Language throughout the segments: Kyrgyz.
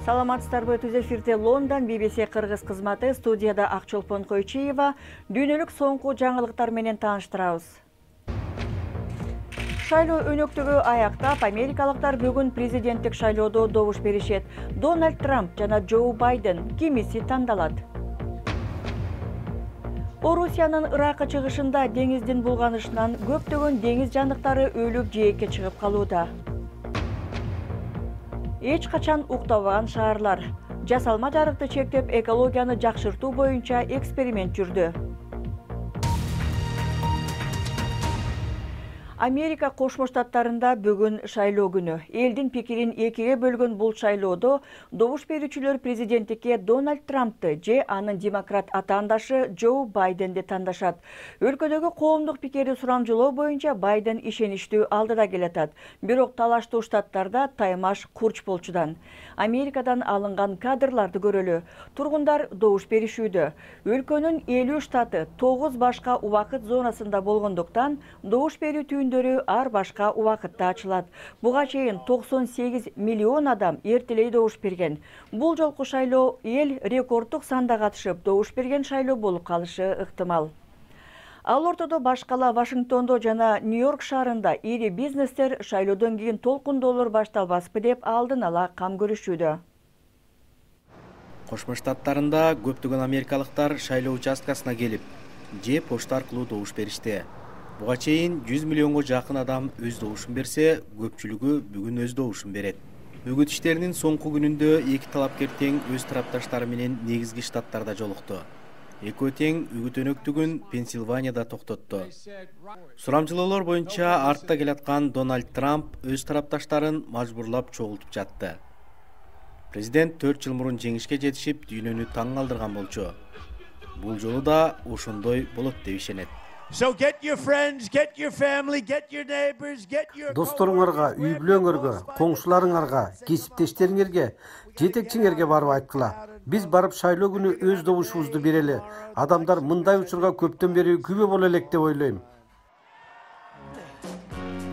Саламатсыздарбы, түз эфирде Лондон BBC кыргыз кызматы, студияда Акчолпон Койчиева. Дүйнөлүк соңку жаңылыктар менен тааныштырабыз. Шайлоо өнөктүгү аяктап, америкалыктар бүгүн президенттик шайлоодо добуш беришет. Дональд Трамп жана Джо Байден кимиси тандалат? Орусиянын Ыракка чыгышында деңиздин булганышынан көптөгөн деңиз жандыктары өлүп жээкке чыгып калууда. Эч качан уктабаган шаарлар. Жасалма жарыкты чектеп, экологияны жакшыртуу боюнча эксперимент жүрдү. Америка Кошмо Штаттарында бүгүн шайлоо күнү. Элдин пикирин экиге бөлгөн бул шайлоодо добуш берүүчүлөр президенттикке Дональд Трампты же анын демократ атаандашы Джо Байденди тандашат. Өлкөдөгү коомдук пикирди сурамжылоо боюнча Байден ишеничтүү алдыда келатат. Бирок талаштуу штаттарда таймаш курч болчудан. Америкадан алынган кадрларды көрөлү. Тургундар добуш беришүүдө. Өлкөнүн 50 штаты 9 башка убакыт зонасында болгондуктан добуш берүү ар башка убакытта ачылат. Буга чейин 98 миллион адам эртелей добуш берген. Бул жолку шайлоо эл рекорддук санда катышып, добуш берген шайлоо болуп калышы ыктымал. Ал ортодо башкала Вашингтондо жана Нью-Йорк шаарында ири бизнестер шайлоодон кийин толкундоолор башталбаспы деп алдын ала кам көрүшүүдө. Кошмо Штаттарында көптөгөн америкалыктар шайлоо участкасына келип, же почта аркылуу добуш беришти. Буга чейин 100 миллионго жакын адам өз добушун берсе, көпчүлүгү бүгүн өз добушун берет. Үгүт иштеринин соңку күнүндө эки талапкер тең өз тарапташтары менен негизги штаттарда жолукту. Экөө тең үгүт өнөктүгүн Пенсильванияда токтотту. Сурамжылоолор боюнча артта келаткан Дональд Трамп өз тарапташтарын мажбурлап чогултуп жатты. Президент 4 жыл мурун жеңишке жетишип, дүйнөнү таң калтырган болчу. Бул жолу да ошондой болот деп ишенет. Досторуңарга, үй бүлөңөргө, коңшуларыңарга, кесиптештериңерге, жетекчиңерге барып айткыла. Биз барып шайлоо күнү өз добушубузду берели. Адамдар мындай учурга көптөн бери күбө боло элек деп ойлойм.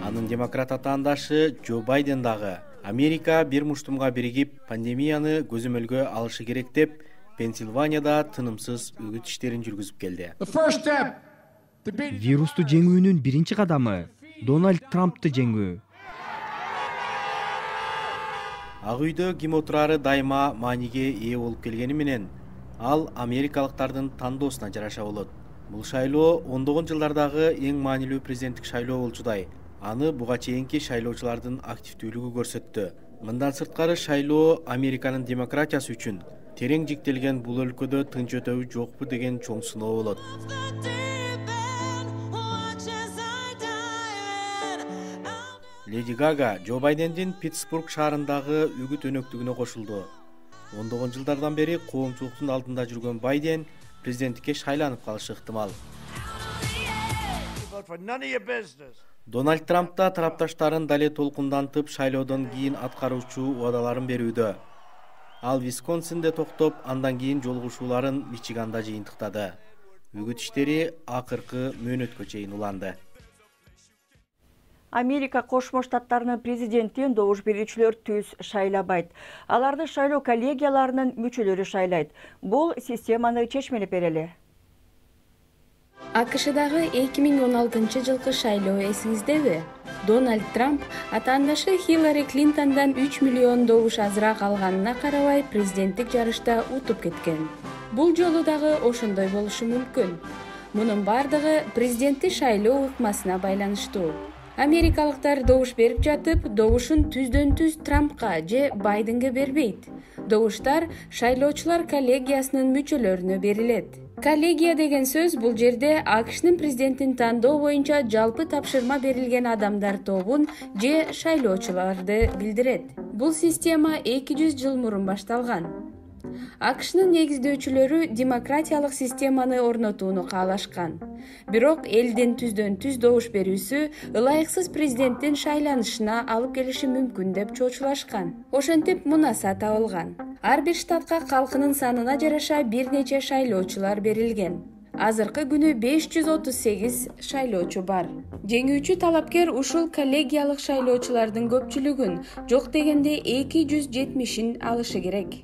Анын демократ атаандашы Джо Байден дагы Америка бир муштумга биригип, пандемияны көзөмөлгө алышы керек деп, Пенсильванияда тынымсыз үгүт иштерин жүргүзүп келди. Вирусту жеңүүнүн биринчи кадамы Дональд Трампты жеңүү. Ак үйдө ким отурары дайыма мааниге ээ болуп келгени менен, ал америкалыктардын тандоосуна жараша болот. Бул шайлоо ондогон жылдардагы эң маанилүү президенттик шайлоо болчудай. Аны буга чейинки шайлоочулардын активдүүлүгү көрсөттү. Мындан сырткары шайлоо Американын демократиясы үчүн терең жиктелген бул өлкөдө тынч өтөбү жокпу деген чоң сыноо болот. Леди Гага Джо Байдендин Питтсбург шаарындагы үгүт өнөктүгүнө кошулду. Ондогон жылдардан бери коомчулуктун алдында жүргөн Байден президенттикке шайланып калышы ыктымал. Дональд Трамп да тарапташтарын дале толкундантып, шайлоодон кийин аткаруучу убадаларын берүүдө. Ал Висконсинде токтоп, андан кийин жолугушууларын Мичиганда жыйынтыктады. Үгүт иштери акыркы мөөнөткө чейин уланды. Америка Кошмо Штаттарынын президентин добуш берүүчүлөр түз шайлабайт. Аларды шайлоо коллегияларынын мүчөлөрү шайлайт. Бул системаны чечмелеп берели. АКШдагы 2016 жылкы шайлоо эсиңиздеби? Дональд Трамп атаандашы Хиллари Клинтондан 3 миллион добуш азыраак алганына карабай президенттик жарышта утуп кеткен. Бул жолу дагы ошондой болушу мүмкүн. Мунун бардыгы президентти шайлоо ыкмасына байланыштуу. Америкалыктар добуш берип жатып, добушун түздөн-түз Трампка же Байденге бербейт. Добуштар шайлоочулар коллегиясынын мүчөлөрүнө берилет. Коллегия деген сөз бул жерде АКШнын президентин тандоо боюнча жалпы тапшырма берилген адамдар тобун же шайлоочуларды билдирет. Бул система 200 жыл мурун башталган. АКШнын негиздөөчүлөрү демократиялык системаны орнотууну каалашкан. Бирок элдин түздөн-түз добуш берүүсү ылайыксыз президенттин шайланышына алып келиши мүмкүн деп чоочулашкан. Ошентип мунаса табылган. Ар бир штатка калкынын санына жараша бир нече шайлоочулар берилген. Азыркы күнү 538 шайлоочу бар. Жеңүүчү талапкер ушул коллегиялык шайлоочулардын көпчүлүгүн, жок дегенде 270-ин алышы керек.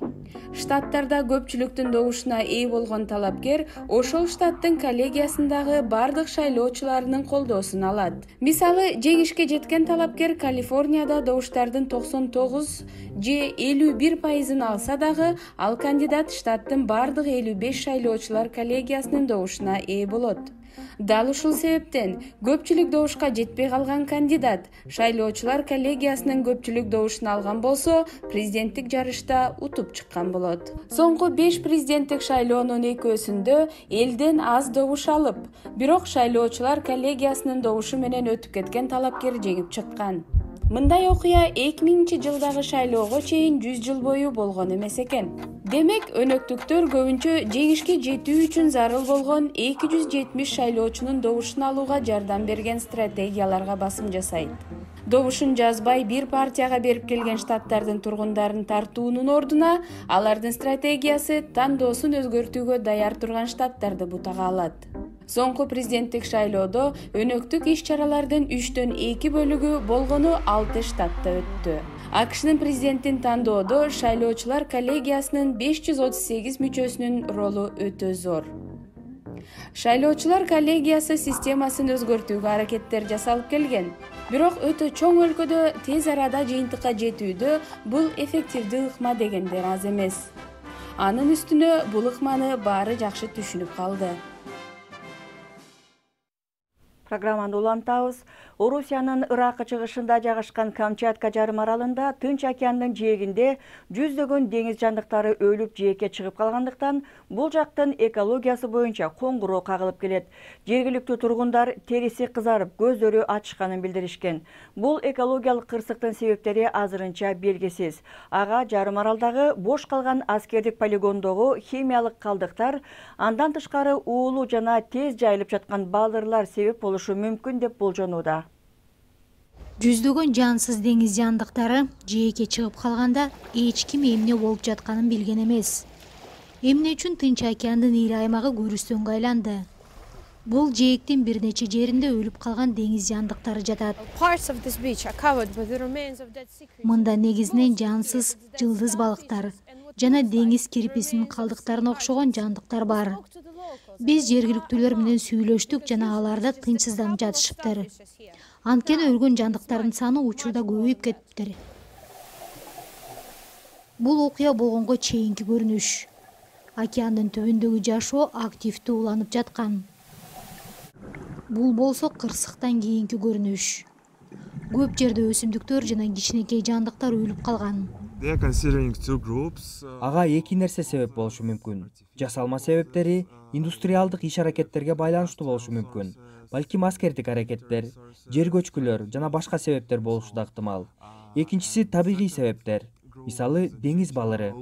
Штаттарда көпчүлүктүн добушуна ээ болгон талапкер ошол штаттын коллегиясындагы бардык шайлоочуларынын колдоосун алат. Мисалы, жеңишке жеткен талапкер Калифорнияда добуштардын 99 же 51% алса дагы, ал кандидат штаттын бардык 55 шайлоочулар коллегиясынын добушуна ээ болот. Дал ушул себептен көпчүлүк добушка жетпей калган кандидат шайлоочулар коллегиясынын көпчүлүк добушун алган болсо, президенттик жарышта утуп чыккан болот. Соңку 5 президенттик шайлоонун экөөсүндө элден аз добуш алып, бирок шайлоочулар коллегиясынын добушу менен өтүп кеткен талапкер жеңип чыккан. Мындай окуя 2000-жылдагы шайлоого чейин 100 жыл бою болгон эмес экен. Демек, өнөктүктөр көбүнчө жеңишке жетүү үчүн зарыл болгон 270 шайлоочунун добушун алууга жардам берген стратегияларга басым жасайт. Добушун жазбай бир партияга берип келген штаттардын тургундарын тартуунун ордуна, алардын стратегиясы тандоосун өзгөртүүгө даяр турган штаттарды бутага алат. Соңку президенттик шайлоодо өнөктүк иш-чаралардын 3/2 бөлүгү болгону 6 штатта өттү. АКШнын президентин тандоодо шайлоочулар коллегиясынын 538 мүчөсүнүн ролу өтө зор. Шайлоочулар коллегиясы системасын өзгөртүүгө аракеттер жасалып келген. Бирок өтө чоң өлкөдө тез арада жыйынтыкка жетүүдө бул эффективдүү ыкма дегендер аз эмес. Анын үстүнө бул ыкманы баары жакшы түшүнүп калды. Программаны улантабыз. Орусиянын Ыракы чыгышында жайгашкан Камчатка жарым аралында Тынч океандын жээгинде жүздөгөн деңиз жандыктары өлүп жээкке чыгып калгандыктан бул жактын экологиясы боюнча коңгуроо кагылып келет. Жергиликтүү тургундар териси кызарып, көздөрү ачышканын билдиришкен. Бул экологиялык кырсыктын себептери азырынча белгисиз. Ага жарым аралдагы бош калган аскердик полигондогу химиялык калдыктар, андан тышкары уулуу жана тез жайылып жаткан балырлар себеп болушу мүмкүн деп болжонууда. Жүздөгөн жансыз деңиз жандыктары жээкке чыгып калганда эч ким эмне болуп жатканын билген эмес. Эмне үчүн Тынч океандын ири аймагы көрүстөнгө айланды? Бул жээктин бир нече жеринде өлүп калган деңиз жандыктары жатат. Мында негизинен жансыз жылдыз балыктар жана деңиз кирписинин калдыктарына окшогон жандыктар бар. Биз жергиликтүүлөр менен сүйлөштүк жана аларда тынчсызданып жатышыптыр. Анткени өлгөн жандыктардын саны учурда көбөйүп кетиптир. Бул окуя болгонго чейинки көрүнүш. Океандын түбүндөгү жашоо активдүү уланып жаткан. Бул болсо кырсыктан кийинки көрүнүш. Көп жерде өсүмдүктөр жана кичинекей жандыктар өлүп калган. Ага эки нерсе себеп болушу мүмкүн. Жасалма себептери индустриалдык иш-аракеттерге байланыштуу болушу мүмкүн. Балким аскердик аракеттер, жер көчкүлөр жана башка себептер болушу да ыктымал. Экинчиси табигый себептер. Мисалы, деңиз балыры.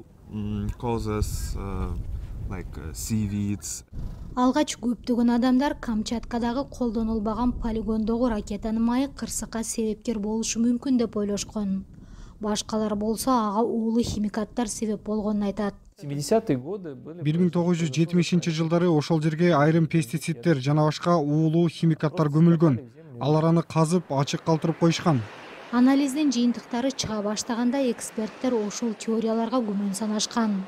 Алгач көптөгөн адамдар Камчаткадагы колдонулбаган полигондогу ракетанын майы кырсыкка себепкер болушу мүмкүн деп ойлошкон. Башкалар болсо ага уулуу химикаттар себеп болгонун айтат. 1970-жылдары ошол жерге айрым пестициддер жана башка уулуу химикаттар көмүлгөн. Алар аны казып, ачык калтырып коюшкан. Анализдин жыйынтыктары чыга баштаганда эксперттер ошол теорияларга күмөн санашкан.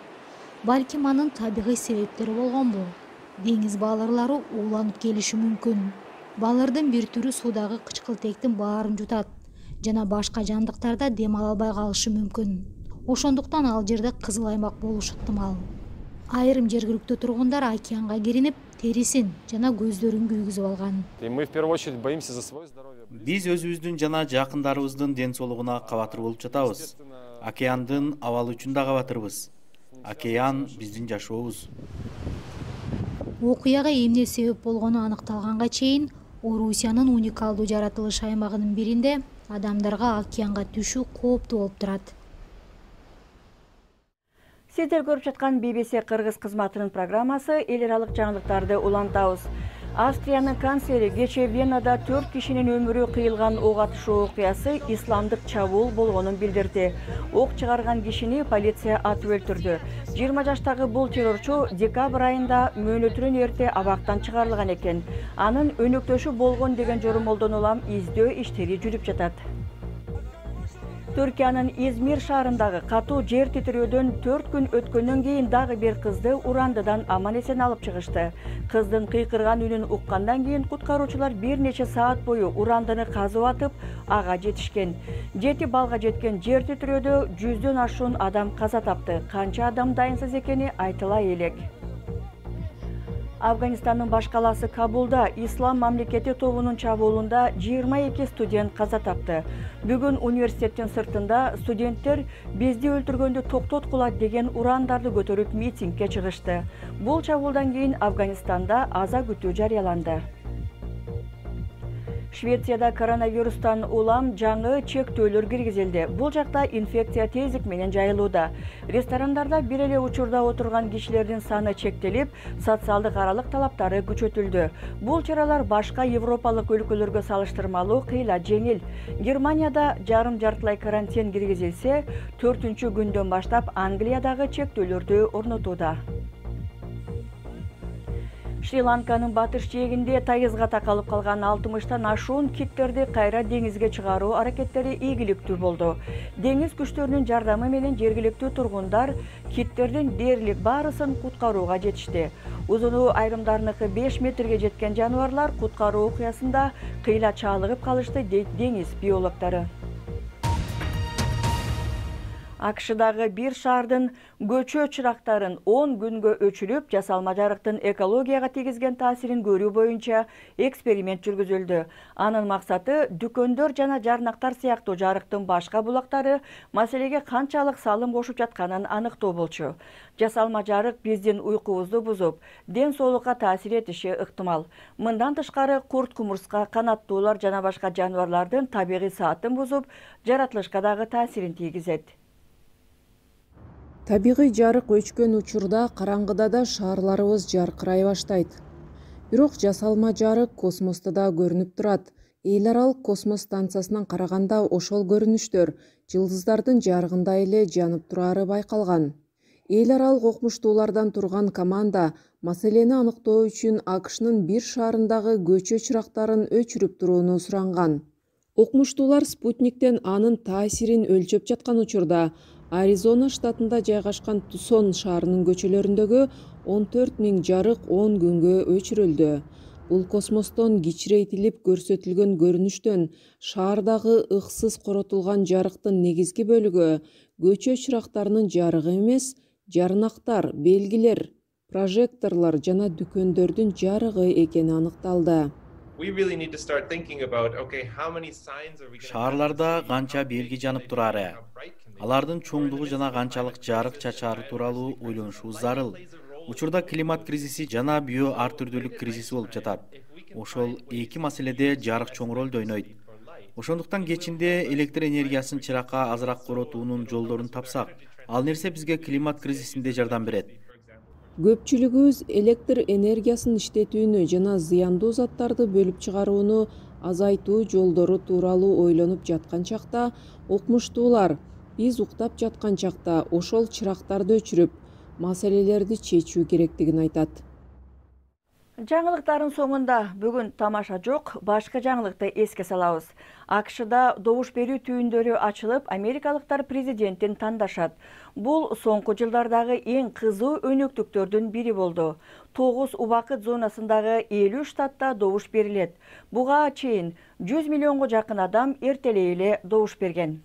Балким анын табигый себептери болгонбу? Деңиз балырлары ууланып келиши мүмкүн. Балырдын бир түрү суудагы кычкылтектин баарын жутат жана башка жандыктарда дем ала албай калышы мүмкүн. Ошондуктан ал жерде кызыл аймак болушу ыктымал. Айрым жергиликтүү тургундар океанга киринип, терисин жана көздөрүн күйгүзүп алган. Биз өзүбүздүн жана жакындарыбыздын ден соолугуна кабатыр болуп жатабыз. Океандын абалы үчүн да кабатырбыз. Океан биздин жашообуз. Окуяга эмне себеп болгону аныкталганга чейин Орусиянын уникалдуу жаратылыш аймагынын биринде адамдарга океанга түшүү кооптуу болуп турат. Сиздер көрүп жаткан BBC кыргыз кызматынын программасы эл аралык жаңылыктарды улантабыз. Австриянын канцлери кече Венада 4 кишинин өмүрү кыйылган ок атышуу окуясы исламдык чабуул болгонун билдирди. Ок чыгарган кишини полиция атып өлтүрдү. 20 жаштагы бул террорчу декабрь айында мөөнөтүнөн эрте абактан чыгарылган экен. Анын өнөктөшү болгон деген жормолдон улам издөө иштери жүрүп жатат. Түркиянын Измир шаарындагы катуу жер титирөөдөн 4 күн өткөндөн кийин дагы бир кызды Урандыдан аман-эсен алып чыгышты. Кыздын кыйкырган үнүн уккандан кийин куткаруучулар бир нече саат бою Урандыны казып атып, ага жетишкен. 7 балга жеткен жер титирөөдө 100дөн ашуун адам каза тапты. Канча адам дайынсыз экени айтыла элек. Афганистандын баш калаасы Кабулда Ислам мамлекети тобунун чабуулунда 22 студент каза тапты. Бүгүн университеттин сыртында студенттер бизди өлтүргөндү токтоткула деген урандарды көтөрүп митингге чыгышты. Бул чабуулдан кийин Афганистанда аза күтүү жарыяланды. Швецияда коронавирустан улам жаңы чектөөлөр киргизилди. Бул жакта инфекция тездик менен жайылууда. Ресторандарда бир эле учурда отурган кишилердин саны чектелип, социалдык аралык талаптары күчөтүлдү. Бул чаралар башка европалык өлкөлөргө салыштырмалуу кыйла жеңил. Германияда жарым-жартылай карантин киргизилсе, 4-күндөн баштап Англиядагы чектөөлөрдү орнотууда. Шри-Ланканын батыш жээгинде тайызга такалып калган 60тан ашуун киттерди кайра деңизге чыгаруу аракеттери ийгиликтүү болду. Деңиз күчтөрүнүн жардамы менен жергиликтүү тургундар киттердин дээрлик баарысын куткарууга жетишти. Узуну айрымдарыныкы 5 метрге жеткен жаныбарлар куткаруу окуясында кыйла чалыгып калышты, дейт деңиз биологдору. АКШдагы бир шаардын көчө чырактарын 10 күнгө өчүрүп, жасалма жарыктын экологияга тийгизген таасирин көрүү боюнча эксперимент жүргүзүлдү. Анын максаты дүкөндөр жана жарнактар сыяктуу жарыктын башка булактары маселеге канчалык салым кошуп жатканын аныктоо болчу. Жасалма жарык биздин уйкубузду бузуп, ден соолукка таасир этиши ыктымал. Мындан тышкары курт-кумурска, канаттуулар жана башка жаныбарлардын табигый саатын бузуп, жаратылышка дагы таасирин тийгизет. Табигый жарык өчкөн учурда караңгыда да шаарларыбыз жаркырай баштайт. Бирок жасалма жарык космоста да көрүнүп турат. Эл аралык космос станциясынан караганда ошол көрүнүштөр жылдыздардын жарыгында эле жанып турары байкалган. Эл аралык окумуштуулардан турган команда маселени аныктоо үчүн АКШнын бир шаарындагы көчө чырактарын өчүрүп турууну суранган. Окумуштуулар спутниктен анын таасирин өлчөп жаткан учурда Аризона штатында жайгашкан Тусон шаарынын көчөлөрүндөгү 14 000 жарык 10 күнгө өчүрүлдү. Бул космостон кичирейтилип көрсөтүлгөн көрүнүштөн шаардагы ыксыз коротулган жарыктын негизги бөлүгү көчө чырактарынын жарыгы эмес, жарнактар, белгилер, прожекторлор жана дүкөндөрдүн жарыгы экени аныкталды. Шаарларда канча белги жанып турары, алардын чоңдугу жана канчалык жарык чачаары тууралуу ойлонушубуз зарыл. Учурда климат кризиси жана био ар түрдүүлүк кризиси болуп жатат. Ошол эки маселеде жарык чоң ролду ойнойт. Ошондуктан кечинде электр энергиясын чыракка азыраак коротуунун жолдорун тапсак, ал нерсе бизге климат кризисинде жардам берет. Көпчүлүгүбүз электр энергиясын иштетүүнү жана зыяндуу заттарды бөлүп чыгарууну азайтуу жолдору тууралуу ойлонуп жаткан чакта, окумуштуулар биз уктап жаткан чакта ошол чырактарды өчүрүп, маселелерди чечүү керектигин айтат. Жаңылыктардын соңунда бүгүн тамаша жок, башка жаңылыкты эске салабыз. АКШда добуш берүү түйүндөрү ачылып, америкалыктар президентин тандашат. Бул соңку жылдардагы эң кызуу өнөктүктөрдүн бири болду. 9 убакыт зонасындагы 50 штатта добуш берилет. Буга чейин 100 миллионго жакын адам эртелей эле добуш берген.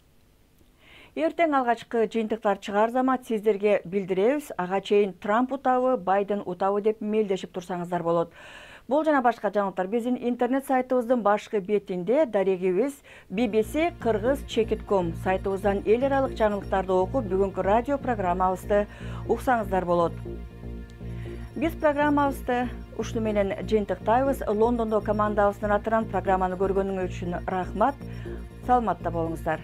Эртең алгачкы жыйынтыктар чыгаар замат сиздерге билдиребиз. Ага чейин Трамп утабы, Байден утабы деп мелдешип турсаңыздар болот. Бул жана башка жаңылыктар биздин интернет сайтыбыздын башкы бетинде, дарегибиз bbc-kyrgyz.com сайтыбыздан эл аралык жаңылыктарды окуп, бүгүнкү радио программабызды уксаңыздар болот. Биз программабызды ушуну менен жыйынтыктайбыз. Лондондо командабыздын атынан программаны көргөнүңүз үчүн рахмат. Саламатта болуңуздар.